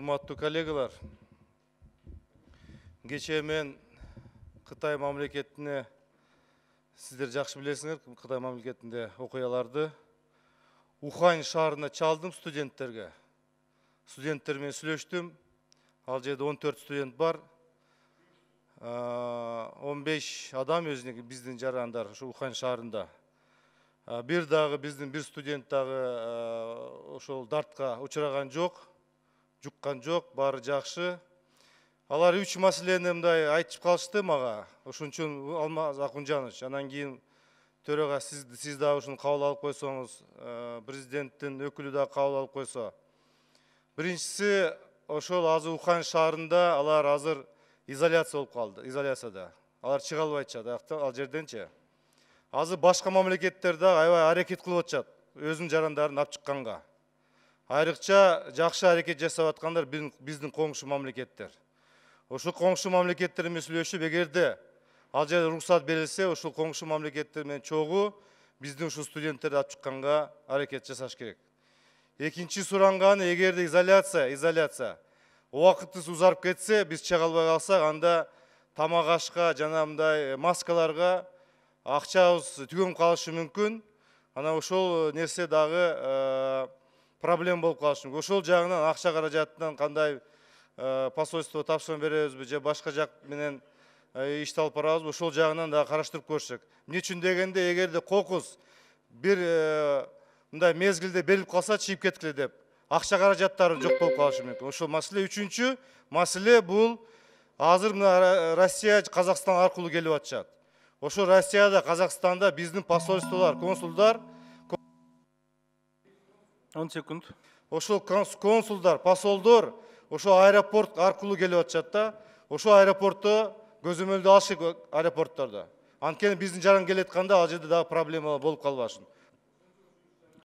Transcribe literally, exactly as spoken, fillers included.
урматтуу коллегалар, кечээ мен Кытай мамлекетине сиздер жакшы билесиңер, Кытай мамлекетинде окуяларды. Ухань шаарына чалдым студенттерге. Студенттер менен сүйлөштүм. Ал жерде он төрт студент бар. он беш адам өзүнө биздин жарандар ушу Ухань шаарында. Бир дагы биздин бир студент дагы ошол дартка учураган жок, жуккан жок, баары жакшы. Алар үч маселени мындай айтып калышты мага. Ошон үчүн Алмаз Акунжанович, анан кийин төрага сиз сиз дагы ушуну кабыл алып койсоңуз, президенттин өкүлү дагы кабыл алып койсо. Биринчиси, ошол азыр Ухань шаарында алар азыр изоляция болуп калды, изоляцияда. Алар чыга албай атышат, ал жерденчи. Азыр башка мамлекеттер дагы аябай аракет кылып атышат, өзүнүн жарандарын алып чыкканга. Айрыкча жакшы аракет жасап аткандар биздин коңшу мамлекеттер. Ошол коңшу мамлекеттер менен сүйлөшүп, эгерде ал жерде уруксат берилсе, ошол коңшу мамлекеттер менен чогуу биздин ушул студенттерди алып чыкканга аракет жасаш керек. Экинчи суранганы, эгерде изоляция, изоляция убакытыбыз узарып кетсе, биз чыга албай калсак, анда тамак ашка жана мындай маскаларга акчабыз түгөнүп калышы мүмкүн. Анан ошол нерсе дагы проблема болуп калышы мүмкүн. Ошол жагынан акча каражатынан кандай посольство тапшырма беребизби же башка жак менен ишти алып барабызбы, ошол жагынан дагы караштырып көрүш керек. Эмне үчүн дегенде, эгерде кокус бир мындай мезгилде берилип калса, чыйып кеткиле деп, акча каражаттары жок болуп калышы мүмкүн. Ошол маселе. Үчүнчү маселе бул азыр мына Россия, Казакстан аркылуу келип атышат. Ошо Россияда, Казакстанда биздин посольстволор, консулдар он секунд. Ошол консулдар, посолдор ошо аэропорт аркылуу келип атышат да. Ошо аэропортто көзөмөлдө алышы аэропорттордо. Анткени биздин жаран келетканда ал жерде дагы проблема болуп калбашын.